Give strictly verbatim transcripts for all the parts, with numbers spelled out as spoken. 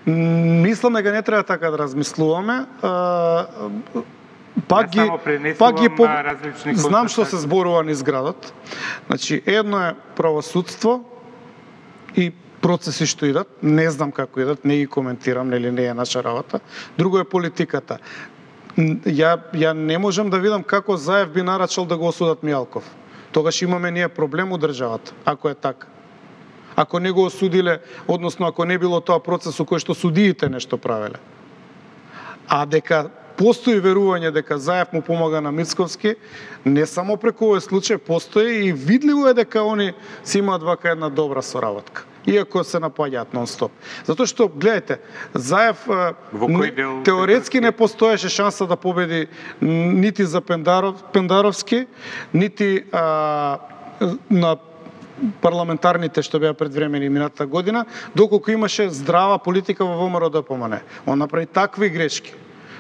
Мислам дека не треба така да размислуваме. Пак ги, пак ги по... знам што се зборува низ градот. Значи, едно е правосудство и процеси што идат, не знам како идат, не ги коментирам, нели не е наша работа. Друго е политиката. Ја, ја не можам да видам како Заев би нарачал да го осудат Мијалков. Тогаш имаме ние проблем у државата, ако е така. Ако не го осудиле, односно ако не било тоа процес у кој што судиите нешто правеле. А дека постои верување дека Заев му помага на Мицковски, не само преку овој случај, постои и видливо е дека они си имаат вака една добра соработка. Иако се напаѓаат нон-стоп. Затоа што, гледайте, Заев не, теоретски не постоеше шанса да победи нити за Пендаров, Пендаровски, нити а, на парламентарните што беа предвремени минатата година, доколку имаше здрава политика во ВМРО-ДПМН. Он направи такви грешки,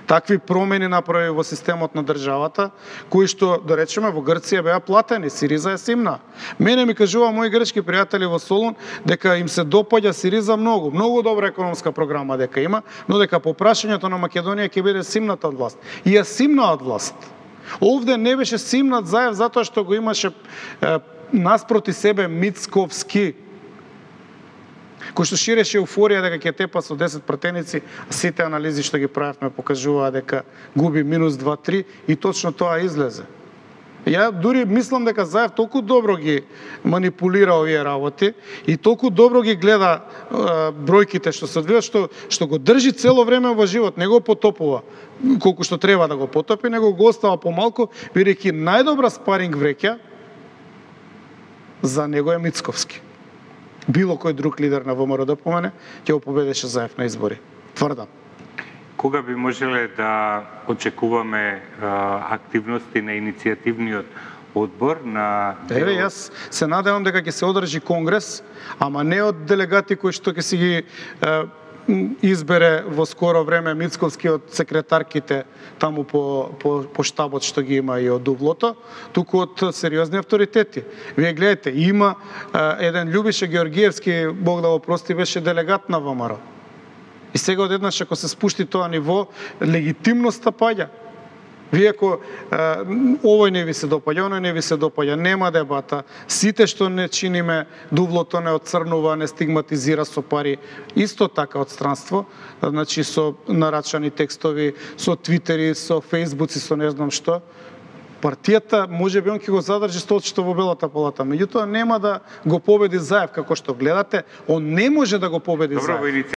такви промени направи во системот на државата, кои што, да речеме, во Грција беа платени, Сириза е симна. Мене ми кажува мои грчки пријатели во Солун дека им се допаѓа Сириза многу, многу добра економска програма дека има, но дека по прашањето на Македонија ќе биде симната од власт. И ја симна од власт. Овде не беше симнат Заев затоа што го имаше е, наспроти себе Мицковски, кој што ширеше еуфорија дека ќе тепа со десет пратеници, сите анализи што ги правевме покажуваа дека губи минус два три и точно тоа излезе. Ја дури мислам дека Заев толку добро ги манипулира овие работи и толку добро ги гледа е, бројките што се одвиваат, што што го држи цело време во живот, не го потопува колку што треба да го потопи, него го остава помалку, бидејќи најдобра спаринг вреќа за него е Мицковски. Било кој друг лидер на ВМРО-ДПМН ќе го победеше Заев на избори. Тврдам. Кога би можеле да очекуваме а, активности на иницијативниот одбор на... Еве, јас се надевам дека ќе се одржи конгрес, ама не од делегати кои што ќе си ги е, избере во скоро време Мицковски од секретарките таму по, по, по штабот што ги има и од Дублото, туку од сериозни авторитети. Вие гледате, има е, еден Љубиша Георгиевски, Бог да го прости, беше делегат на ВМРО. И сега одеднаш ако се спушти тоа ниво, легитимноста паѓа. Вие ако е, овој не ви се допаѓа, оној не ви се допаѓа, нема дебата. Сите што не чиниме, Дублото не отцрнува, не стигматизира со пари. Исто така од странство, значи со нарачани текстови, со твитери, со фејсбуци, со не знам што. Партијата можеби он ќе го задржи столчето во Белата палата, меѓутоа нема да го победи Заев како што гледате, он не може да го победи Добро, Заев.